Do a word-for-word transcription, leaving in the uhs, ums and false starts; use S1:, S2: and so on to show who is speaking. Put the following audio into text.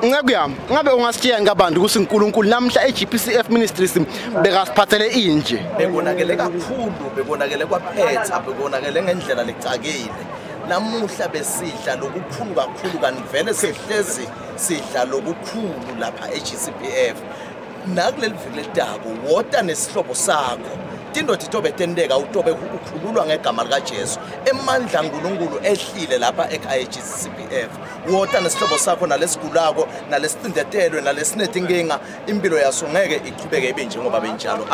S1: Nceku yami, ngabe ungasitshiya ngabantu ukuthi uNkulunkulu namhla e G P C F Ministries bekasiphathele inje?
S2: Bekonakele kakhulu, bekonakele kwaphetha, bekonakele ngendlela lecakile. Namuhla besidla lokukhulu kakhulu, kanti vele sihlezi sidla lokukhulu lapha e G C P F. Nakuleli viki ledako wota nesihlobo sakho. Tindoda itobe tendeka utobe ukhululwa ngegama likaJesu. Emandla kaNkulunkulu ehlile lapha ekhaya e G C P F. Wota nesihlobo sakho nalesigulako nalesicindetelwe nalesinetinkinga, impilo yaso ngeke iqhubeke ibe njengoba benjalo.